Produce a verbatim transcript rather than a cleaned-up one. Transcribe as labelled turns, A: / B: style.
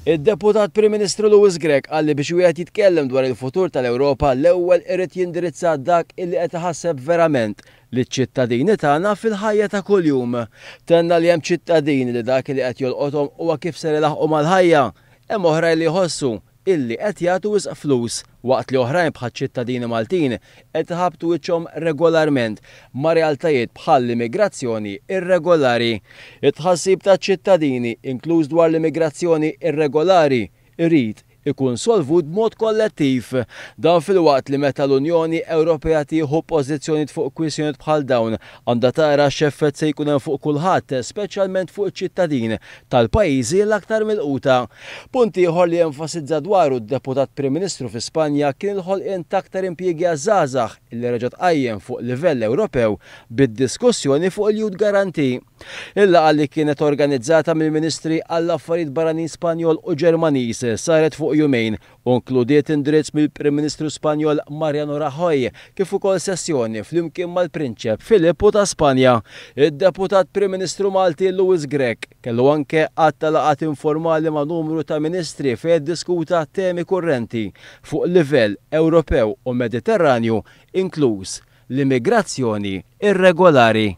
A: Id-Deputat Prim Ministru Louis Grech qal li biex wieħed jitkellem dwar il-futur tal-Ewropa, l-ewwel irid jindirizza dak illi qed iħasseb verament liċ-ċittadini tagħna fil-ħajja ta' kuljum. Tenna li hemm ċittadini li dak li qed jolqothom huwa kif ser ilaħqu mal-ħajja. Hemm oħrajn li jħossu illi qed jagħtu wisq flus, waqt li oħrajn bħal ċittadini Maltin qed iħabbtu wiċċhom regolarment ma' realtajiet bħal l-immigrazzjoni irregolari. It-tħassib taċ-ċittadini, inkluż dwar l-immigrazzjoni irregolari, irid ikun solvut b'mod kollettiv. Dan filwaqt li meta l-Unjoni Ewropea tieħu pożizzjonijiet fuq kwistjonijiet bħal dawn, għandha tara x'effett se jkun hemm fuq kulħadd, speċjalment fuq iċ-ċittadin tal-pajjiżi l-aktar milquta. Punt ieħor li enfasizza dwaru d-Deputat Prim Ministru fi Spanja kien il-ħolqien ta' aktar impjiegi għaż-żgħażagħ, illi reġa' tqajjem fuq livell Ewropew bid-diskussjoni fuq il-Youth Guarantee. Il-laqgħa, li kienet organizzata mill-Ministri għall-Affarijiet Barranin Spanjol u Ġermaniż, saret fuq jumejn u inkludiet indirizz mill-Prim Ministru Spanjol Mariano Rajoy kif ukoll sessjoni flimkien mal-Prinċep Filippu ta' Spanja. Id-Deputat Prim Ministru Malti Louis Grech kellu anke għadd ta' laqgħat informali ma' numru ta' ministri fejn diskuta temi kurrenti fuq livell Ewropew u Mediterranju, inkluż l-immigrazzjoni irregolari.